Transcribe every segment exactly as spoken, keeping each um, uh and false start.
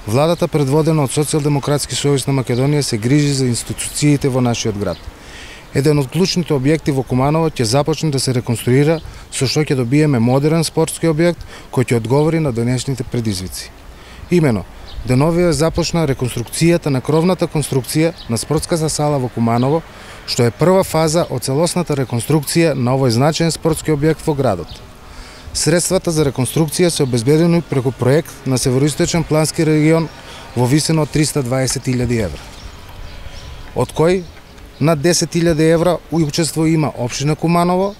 Владата, предводена од Социјалдемократски сојуз на Македонија, се грижи за институциите во нашиот град. Еден од клучните објекти во Куманово ќе започне да се реконструира, со што ќе добиеме модерен спортски објект кој ќе одговори на денешните предизвици. Имено, деновиве започна реконструкцијата на кровната конструкција на спортската сала во Куманово, што е прва фаза од целосната реконструкција на овој значаен спортски објект во градот. Средствата за реконструкција се обезбедени преку проект на Североисточен плански регион во висина од триста дваесет илјади евра, од кој над десет илјади евра учество има општина Куманово,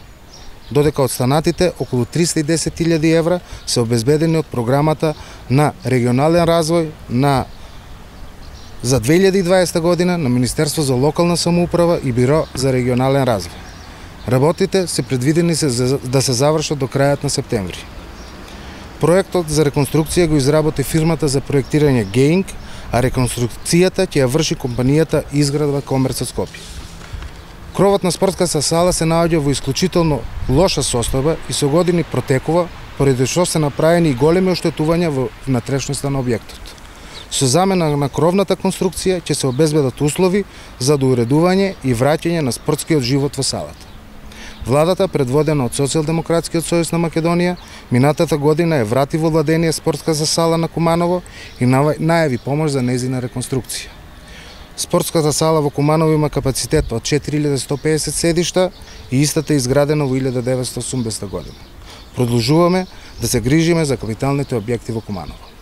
додека останатите околу триста и десет илјади евра се обезбедени од програмата на регионален развој на за две илјади и дваесета година на Министерство за локална самоуправа и Биро за регионален развој. Работите се предвидени се за, да се завршат до крајот на септември. Проектот за реконструкција го изработи фирмата за проектирање Геинг, а реконструкцијата ќе ја врши компанијата Изградба Комерцот Скопје. Кровот на спортската сала се наоѓа во исклучително лоша состојба и со години протекува, поради што се направени и големи оштетувања во внатрешноста на објектот. Со замена на кровната конструкција ќе се обезбедат услови за доуредување и враќање на спортскиот живот во салата. Владата, предводена од Социјалдемократскиот сојуз на Македонија, минатата година е врати во владение спортската сала на Куманово и најави помош за нејзина реконструкција. Спортската сала во Куманово има капацитет од четири илјади сто песет седишта и истата е изградена во илјада деветстотини и осумдесета година. Продолжуваме да се грижиме за капиталните објекти во Куманово.